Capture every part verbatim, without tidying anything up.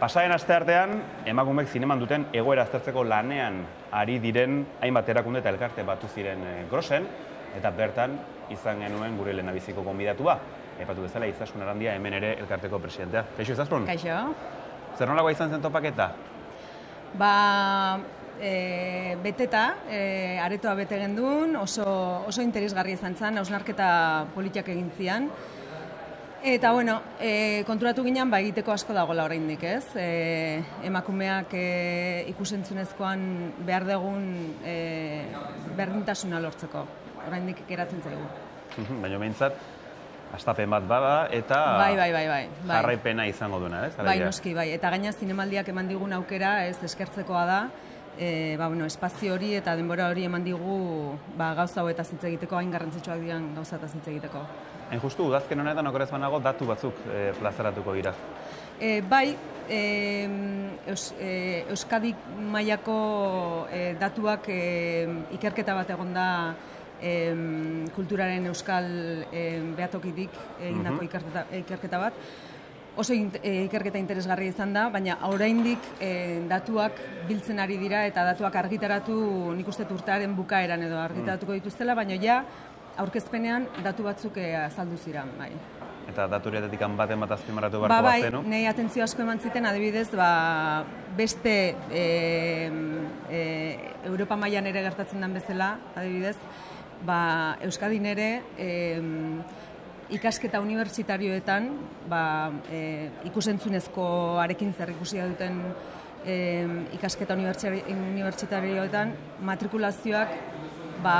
Pasaren asteartean, emakumeek zineman duten egoera aztertzeko lanean ari diren hainbat erakunde eta elkarte batu ziren Grosen, eta bertan izan genuen gure lehendabiziko gonbidatua. Aipatu bezala, Izaskun Arandia hemen ere elkarteko presidentea. Kaixo, Izaskun? Kaixo. Zer nolakoa izan zen topaketa? Ba, e, beteta, e, aretoa bete gendun, oso, oso interesgarri izan zen, hausnarketa politiak egin zian. Eta, bueno, e, konturatu ginen, ba, egiteko asko dagoela oraindik, ez? E, emakumeak e, ikusentzunezkoan behar dugun e, berdintasuna lortzeko. Oraindik geratzen zaigu. Baina behintzat, astapen bat bada eta bai, bai, bai, bai. jarraipena izango duena, ez? Bai, noski, bai. Eta gaina zinemaldiak eman digun aukera, ez, eskertzekoa da, e, ba, bueno, espazio hori eta denbora hori eman digu ba, gauza hauetaz hitz egiteko, hain garrantzitsuak diren gauzataz hitz egiteko. Hain justu, udazken honetan okorez banago datu batzuk e, plazaratuko dira. E, bai, e, Eus, e, Euskadi mailako e, datuak e, ikerketa bat egon da e, kulturaren euskal e, behatokitik egindako uh-huh. ikerketa, ikerketa bat. Oso e, ikerketa interesgarria izan da, baina oraindik e, datuak biltzen ari dira eta datuak argitaratu nik uste urtearen bukaeran edo argitaratuko dituztela, baina ja aurkezpenean datu batzuk e, azaldu ziren, bai. Eta datu horietatik baten bat azpimarratu beharko ba, bai, bazenu? Nei atentzio asko eman ziten, adibidez, ba, beste e, e, Europa mailan ere gertatzen den bezala, adibidez, ba, Euskadin ere e, ikasketa unibertsitarioetan ba, e, ikusentzunezkoarekin zer ikusia duten e, ikasketa unibertsitarioetan matrikulazioak ba,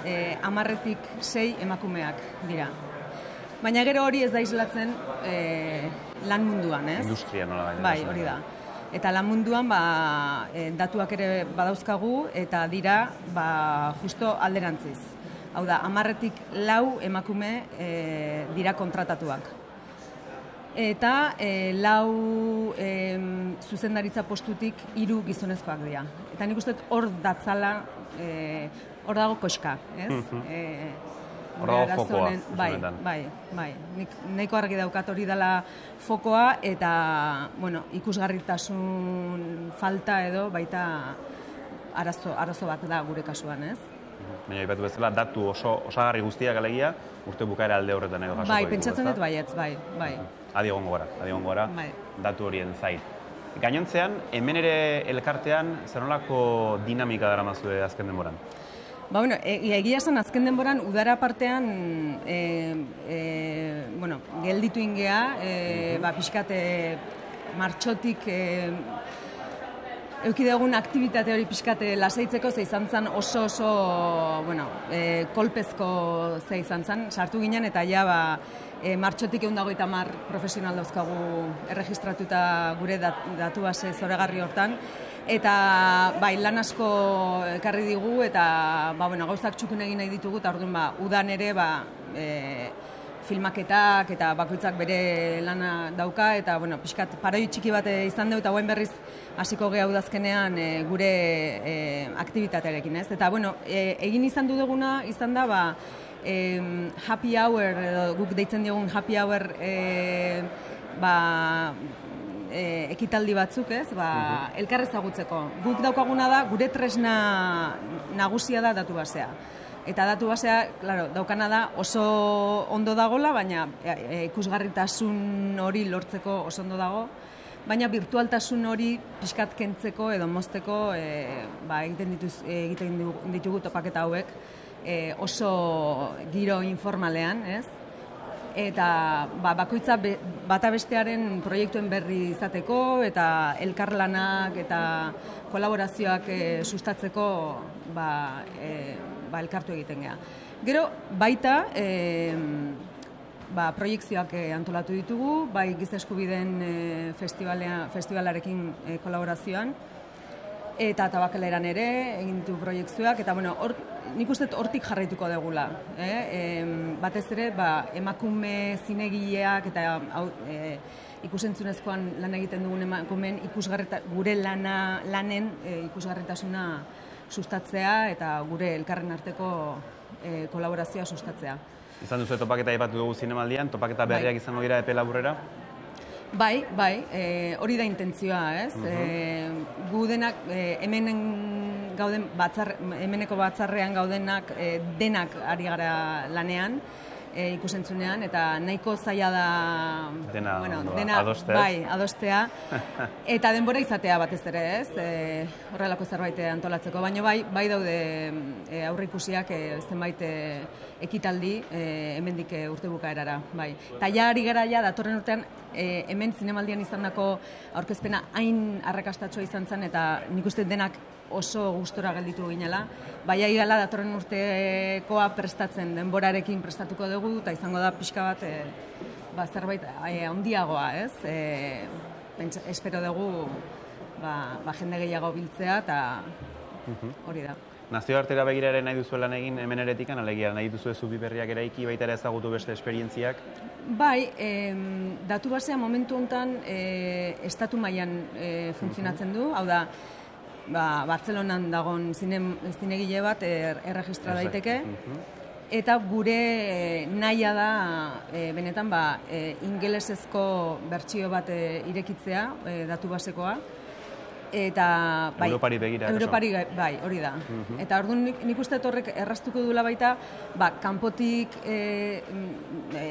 e, amarretik sei emakumeak dira. Baina gero hori ez da islatzen e, lan munduan, ez? Industria nola baina. Bai, hori da. Eta lan munduan ba, e, datuak ere badauzkagu eta dira ba, justo alderantziz. Hau da, amarretik lau emakume e, dira kontratatuak. Eta e, lau e, zuzendaritza postutik hiru gizonezkoak dira. Eta nik uste hor datzala, e, hor dago koxka, ez? e, Hor dago fokoa. Bai, bai, bai. Nik nahiko argi daukat hori dela fokoa eta, bueno, ikusgarritasun falta edo baita arazo, arazo bat da gure kasuan, ez? Baina ipatu bezala, datu oso osagarri guztiak alegia, urte bukaera alde horretan edo jasoko bai, ditugu, pentsatzen dut baietz, bai, bai. Adi egongo gara, adi egongo gara, bai. datu horien zain. Gainontzean, hemen ere elkartean, zer nolako dinamika daramazue azken denboran? Ba, bueno, egia esan azken denboran udara partean e, e, bueno, gelditu ingea, e, uh-huh. ba, pixkat e, martxotik e, eukidegun aktibitate hori pixkat lasaitzeko ze izan zen oso oso bueno, e, kolpezko ze izan zen, sartu ginen eta ja ba, e, martxotik ehun eta hogeita hamar profesional dauzkagu erregistratuta gure dat, datu base zoragarri hortan. Eta bai, lan asko ekarri digu eta ba, bueno, gauzak txukun egin nahi ditugu eta orduan ba, udan ere ba, e, filmaketak eta bakoitzak bere lana dauka eta bueno, pixkat paroi txiki bat izan dugu eta guen berriz hasiko geha udazkenean e, gure e, aktibitatearekin, ez? Eta bueno, e, egin izan du duguna izan da ba, e, happy hour edo guk deitzen diogun happy hour e, ba, E, ekitaldi batzuk, ez, ba, uh-huh. elkar ezagutzeko. Guk daukaguna da, gure tresna nagusia da datu basea. Eta datu basea, claro, daukana da oso ondo dagola, baina e, ikusgarritasun hori lortzeko oso ondo dago, baina virtualtasun hori pixkat kentzeko edo mozteko e, ba, egiten, dituz, egiten ditugu topaketa hauek e, oso giro informalean, ez? Eta ba, bakoitza be, bata bestearen proiektuen berri izateko eta elkarlanak eta kolaborazioak e, sustatzeko ba, e, ba, elkartu egiten geha. Gero baita e, ba, proiektzioak e, antolatu ditugu, bai Giza Eskubideen e, festivalarekin e, kolaborazioan eta tabakaleran ere egin ditu proiektzioak eta bueno, or, nik uste hortik jarraituko degula. Eh? E, batez ere, ba, emakume zinegileak eta au, e, ikusentzunezkoan lan egiten dugun emakumeen gure lana, lanen e, ikusgarritasuna sustatzea eta gure elkarren arteko e, kolaborazioa sustatzea. Izan duzu topaketa aipatu dugu zinemaldian, topaketa berriak bai. Izango dira epe laburrera? Bai, bai, e, hori da intentzioa, ez? Mhm. E, gu denak, e, hemenen gauden batzar, hemeneko batzarrean gaudenak e, denak ari gara lanean, e, ikusentzunean, eta nahiko zaila da Dena, bueno, ondo, dena adostea, ez? bai, adostea, eta denbora izatea batez ere, ez? E, horrelako zerbait antolatzeko, baina bai, bai daude e, aurreikusiak e, zenbait e, ekitaldi e, hemendik e, urte bukaerara, bai. Ta ja ari gara ja datorren urtean e, hemen zinemaldian izandako aurkezpena hain arrakastatsua izan zen, eta nik uste denak oso gustora gelditu ginela. Baina igala datorren urtekoa prestatzen, denborarekin prestatuko dugu, eta izango da pixka bat e, ba, zerbait e, handiagoa, ez? E, pentsa, espero dugu ba, ba, jende gehiago biltzea, eta hori da. Nazioartera begira ere nahi duzu lan egin hemen eretikan, alegia nahi duzu ez zubi berriak eraiki, baita ere ezagutu beste esperientziak? Bai, e, datu basea momentu honetan e, estatu mailan e, funtzionatzen du, hau da, ba, Bartzelonan dagon zinegile bat er, erregistra daiteke, eta gure e, nahia da e, benetan ba, e, ingelesezko bertsio bat e, irekitzea, e, datu basekoa, eta bai, Europari begira. Europari bai, hori da. Mhm. Eta orduan nik, nik uste horrek erraztuko duela baita, ba, kanpotik e, e,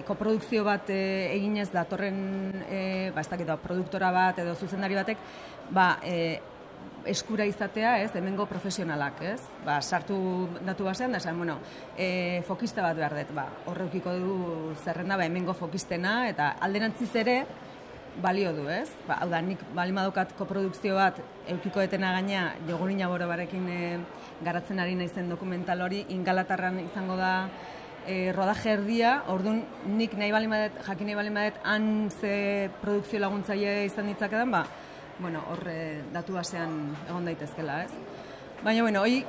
koprodukzio bat e, eginez datorren e, ba, ez dakit, produktora bat edo zuzendari batek, ba, e, eskura izatea, ez, hemengo profesionalak, ez? Ba, sartu datu basean da esan, bueno, e, fokista bat behar dut, ba, horreukiko du zerrenda, ba, hemengo fokistena, eta alderantziz ere, balio du, ez? Ba, hau da, nik bali madokat koprodukzio bat eukiko etena gaina Jogurina Borobarekin e, garatzen ari naizen dokumental hori, Ingalaterran izango da e, rodaje erdia, orduan nik nahi bali madet, jakin nahi bali madet, han ze produkzio laguntzaile izan ditzakedan, ba, bueno, hor e, datu basean egon daitezkela, ez? Baina, bueno, hoi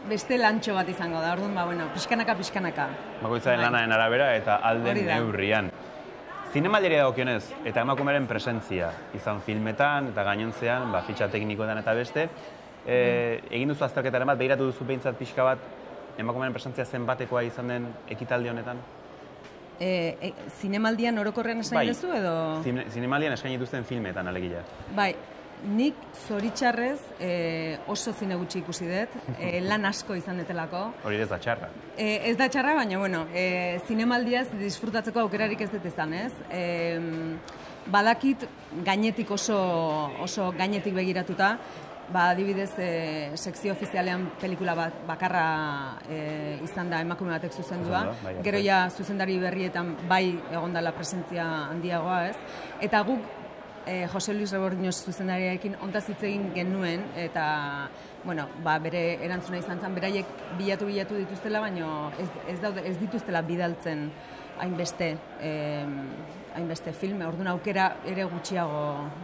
beste lantxo bat izango da, orduan, ba, bueno, pixkanaka, pixkanaka. Bakoitzaren lanaren arabera eta alden neurrian. Zinemaldiari dagokionez eta emakumeren presentzia izan filmetan eta gainontzean, ba, fitxa teknikoetan eta beste, e, egin duzu azterketaren bat, behiratu duzu behintzat pixka bat, emakumeren presentzia zenbatekoa izan den ekitaldi honetan? E, e, zinemaldian orokorrean esan bai, duzu edo? Zine, zinemaldian eskaini dituzten filmetan alegia. Bai, nik zoritxarrez e, oso zine gutxi ikusi dut, e, lan asko izan detelako. Hori ez da txarra. E, ez da txarra, baina, bueno, e, zinemaldiaz disfrutatzeko aukerarik ez dut izan, ez? E, badakit gainetik oso, oso gainetik begiratuta, ba, adibidez, e, sekzio ofizialean pelikula bat bakarra e, izan da emakume batek zuzendua. Bai, Gero ja zuzendari berrietan bai egondala presentzia handiagoa, ez? Eta guk E, Jose Luis Rebordiños zuzendariarekin ontaz hitz egin genuen, eta bueno, ba, bere erantzuna izan zen, beraiek bilatu-bilatu dituztela, baina ez, ez, daude, ez dituztela bidaltzen hainbeste, eh, hainbeste filme, orduan aukera ere gutxiago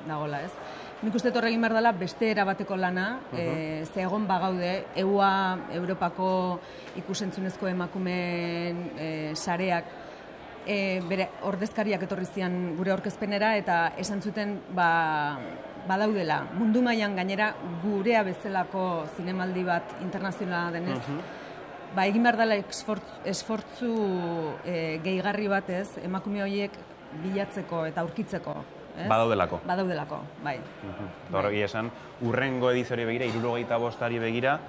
dagola, ez? Nik uste torre egin behar dela beste erabateko lana, uh -huh. e, ze egon bagaude, E U A, Europako ikusentzunezko emakumeen e, sareak, E, bere ordezkariak etorri zian gure aurkezpenera eta esan zuten ba, badaudela. Mundu mailan gainera gurea bezalako zinemaldi bat internazionala denez, uh -huh. ba, egin behar dela esfortzu e, gehigarri batez emakume horiek bilatzeko eta aurkitzeko. Ez? Badaudelako. Badaudelako, bai. Uh -huh. Bai. Esan, urrengo ediziori begira, hirurogeita bostari begira,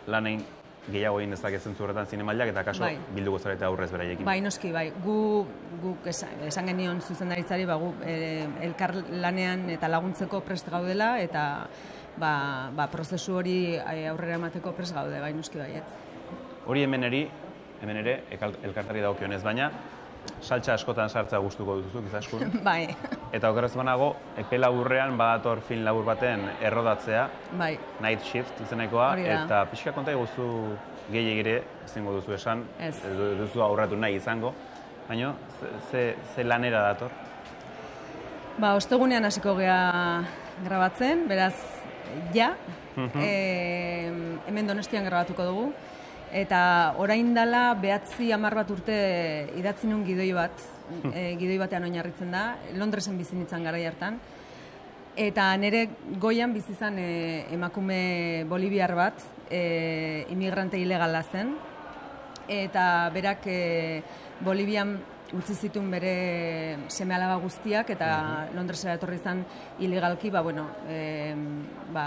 lan egin gehiago egin dezake zentzu horretan zinemaldiak eta kaso bai. Bilduko zarete aurrez beraiekin. Bai, noski, bai. Gu, gu esan, esan genion zuzendaritzari, ba, gu e, elkar lanean eta laguntzeko prest gaudela eta ba, ba, prozesu hori aurrera emateko prest gaude, bai, noski baiet. Hori hemen eri, hemen ere, elkartari dagokionez, baina saltsa askotan sartza gustuko duzuzuk, izaskun. Bai. Eta okerrez banago, epe laburrean badator film labur baten errodatzea, bai. Night Shift izenekoa, eta pixka konta eguzu gehiagire, ezingo duzu esan, ez duzu aurratu nahi izango, baina ze, ze lanera dator? Ba, ostegunean hasiko gea grabatzen, beraz, ja, uh-huh. e, hemen Donostian grabatuko dugu, eta orain dela behatzi hamar bat urte idatzi nun gidoi bat, e, gidoi batean oinarritzen da, Londresen bizi nintzen garai hartan, eta nire goian bizi izan e, emakume boliviar bat, e, imigrante ilegala zen, eta berak e, Bolivian utzi zituen bere seme-alaba guztiak, eta Londresera etorri izan ilegalki, ba, bueno, e, ba,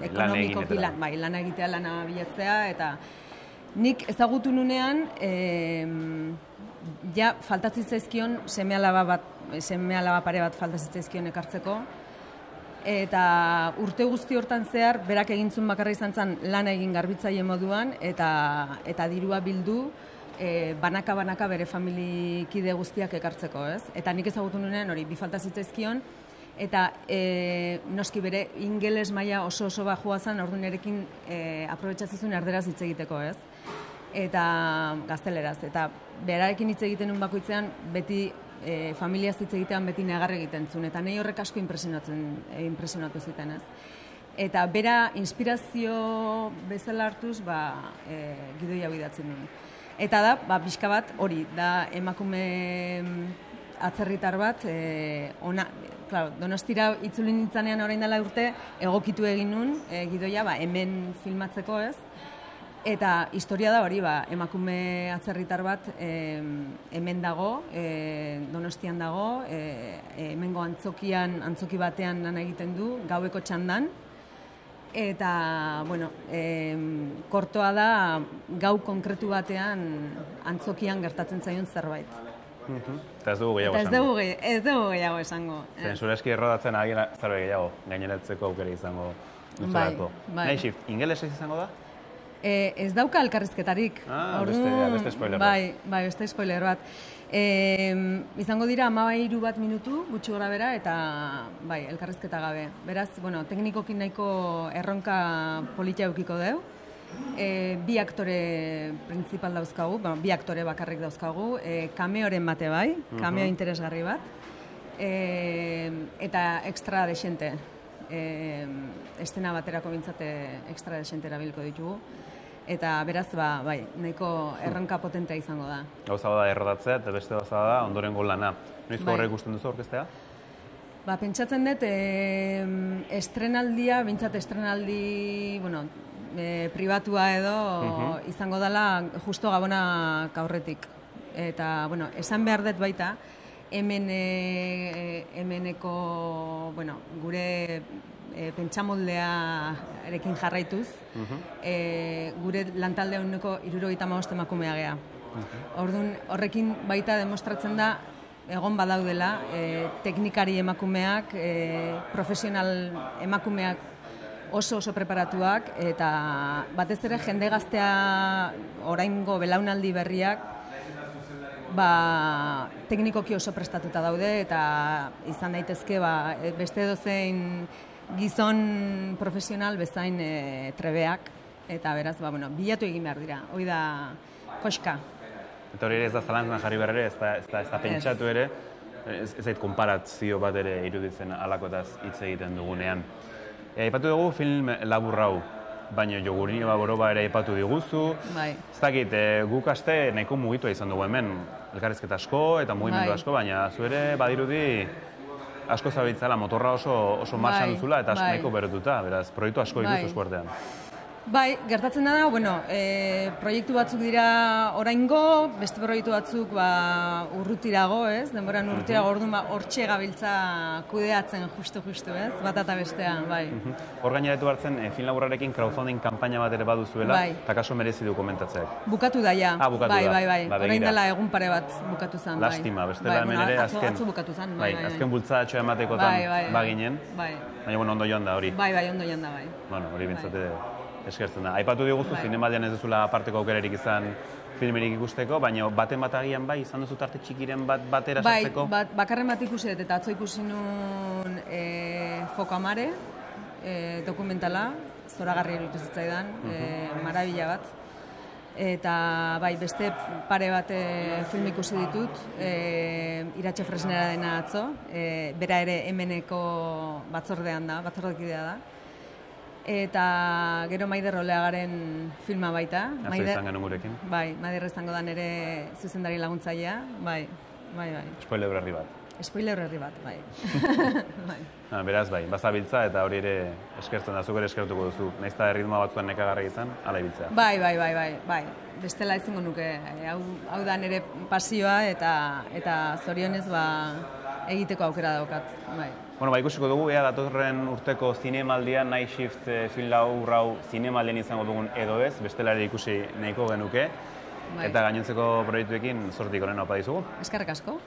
ekonomikoki lan, bai, lana egitea, lana bilatzea, eta nik ezagutu nunean, e, ja, faltatzen zaizkion seme-alaba bat, seme-alaba pare bat faltatzen zaizkion ekartzeko, eta urte guzti hortan zehar, berak egintzun bakarra izan zen lana egin garbitzaile moduan, eta, eta dirua bildu, e, banaka-banaka bere familikide guztiak ekartzeko, ez? Eta nik ezagutu nunean hori, bi falta zitzaizkion, eta e, noski bere ingeles maila oso oso bajua zen, orduan erekin e, aprobetxatzizun erderaz hitz egiteko, ez? Eta gazteleraz, eta berarekin hitz egiten un bakoitzean, beti e, familiaz hitz egitean beti negar egiten zuen, eta nahi horrek asko impresionatzen, e, impresionatu zuten, ez? Eta bera inspirazio bezala hartuz, ba, e, gidoia bidatzen duen. Eta da, ba, pixka bat, hori, da emakume atzerritar bat, e, ona, claro, Donostira itzuli nintzanean orain dela urte, egokitu egin nun, e, gidoia, ba, hemen filmatzeko, ez? Eta historia da hori, ba, emakume atzerritar bat e, hemen dago, e, Donostian dago, e, hemengo antzokian, antzoki batean lan egiten du, gaueko txandan, eta, bueno, e, kortoa da gau konkretu batean antzokian gertatzen zaion zerbait. Eta ez dugu gehiago esango. Ez dugu, ez dugu gehiago esango. Zen zure eski errodatzen agin zerbait gehiago, gaineratzeko aukera izango duzulako. Bai, bai. Nahi shift, ingelesez izango da? E, ez dauka elkarrizketarik. Ah, Ordu, beste, beste spoiler bat. Bai, bai, beste spoiler bat. E, izango dira hamairu bat minutu, gutxi gora bera, eta bai, elkarrizketa gabe. Beraz, bueno, teknikokin nahiko erronka politia eukiko deu. E, bi aktore principal dauzkagu, bueno, bi aktore bakarrik dauzkagu, e, kameoren bate bai, kameo interesgarri bat, e, eta extra desente. E, estena baterako bintzate extra desente erabilko ditugu. Eta beraz, ba, bai, nahiko erronka potentea izango da. Gauza da errodatzea, eta beste gauza da ondorengo lana. Noizko horrek ikusten duzu orkestea? Ba, pentsatzen dut, e, estrenaldia, bintzat estrenaldi, bueno, e, pribatua edo uh-huh. izango dela justo Gabona aurretik. Eta, bueno, esan behar dut baita, hemen e, hemeneko, bueno, gure e, pentsamoldea erekin jarraituz, uh-huh. e, gure lantalde honeko hirurogeita hamabost emakumea gea. Uh-huh. Orduan, horrekin baita demostratzen da egon badaudela e, teknikari emakumeak, e, profesional emakumeak oso oso preparatuak, eta batez ere jende gaztea oraingo belaunaldi berriak ba, teknikoki oso prestatuta daude, eta izan daitezke ba, beste dozein gizon profesional bezain e, trebeak, eta beraz, ba, bueno, bilatu egin behar dira, hoi da koska. Eta hori ere ez da zalantzan jarri behar ere, ez da, ez da, ez da pentsatu ere, ez, ez zait konparazio bat ere iruditzen alakotaz hitz egiten dugunean. E, aipatu dugu film labur hau, baina Jogurini Baboroba ere aipatu diguzu. Bai. Ez dakit, e, guk aste nahiko mugitua izan dugu hemen, elkarrizketa asko eta mugimendu bai. asko, baina zu ere badirudi asko zabiltzala, motorra oso, oso marxan bai. duzula eta bai. nahiko berotuta, beraz, proiektu asko bai. diguzu eskuartean. Bai, gertatzen da, bueno, e, proiektu batzuk dira oraingo, beste proiektu batzuk ba, urrutirago, ez? Denboran urrutirago, orduan ba, hortxe gabiltza kudeatzen justu-justu, ez? Bat eta bestean, bai. Hor gaineratu hartzen, e, film laburrarekin crowdfunding kanpaina bat ere baduzuela, bai. eta kaso merezi du komentatzeak. Bukatu da, ja. Ah, bukatu bai, da. Bai, bai, Ba, orain dela egun pare bat bukatu zen. Lastima, bai. bestela bai, hemen bueno, ere atzo, azken, atzo bukatu zen, bai, bai, bai, azken bultzadatxo ematekotan bai, bai, baginen, bai. baina bueno, ondo joan da hori. Bai, bai, ondo joan da, bai. Bueno, hori bintzate bai. eskertzen da. Aipatu diguzu, bai. Zinemaldian ez duzula aparteko aukerarik izan filmerik ikusteko, baina baten bat agian bai, izan duzu tarte txikiren bat batera sartzeko? Bai, bat, bakarren bat ikusi dut, eta atzo ikusi nun e, Foko Amare, e, dokumentala, zoragarri eruditu zitzaidan, uh-huh. e, marabila bat. Eta bai, beste pare bat e, film ikusi ditut, e, Iratxe Fresnera dena atzo, e, bera ere hemeneko batzordean da, batzordekidea da. Eta gero Maider Oleagaren filma baita. Atzo izan genuen gurekin. Bai, Maider izango da nere zuzendari laguntzailea, bai, bai, bai. Spoiler berri bat. Spoiler herri bat, bai. bai. Ha, beraz, bai, bazabiltza eta hori ere eskertzen da, zuk ere eskertuko duzu. Nahiz eta erritmoa batzuen nekagarri izan, ala ibiltzea. Bai, bai, bai, bai, bai. Bestela ezingo nuke, hau, hau da nire pasioa eta eta zorionez ba, egiteko aukera daukat, bai. Bueno, ba, ikusiko dugu, ea datorren urteko zinemaldian, Night Shift eh, film hau zinemaldian izango dugun edo ez, bestela ere ikusi nahiko genuke. Bai. Eta gainontzeko proiektuekin zortik onena opa dizugu. Eskerrik asko.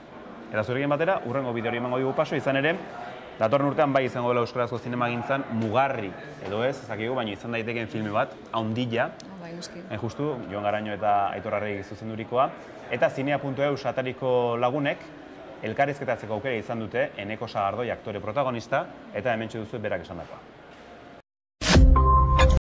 Eta zurekin batera, urrengo bideori emango dugu paso, izan ere, datorren urtean bai izango dela euskarazko zinemagintzan mugarri, edo ez, ezakigu, baina izan daitekeen filme bat, haundila, oh, bai, hain justu, Jon Garaño eta Aitor Arregi zuzendurikoa, eta zinea puntu eus atariko lagunek, elkarrizketatzeko aukera izan dute Eneko Sagardoi aktore protagonista, eta hementxe duzu berak esandakoa.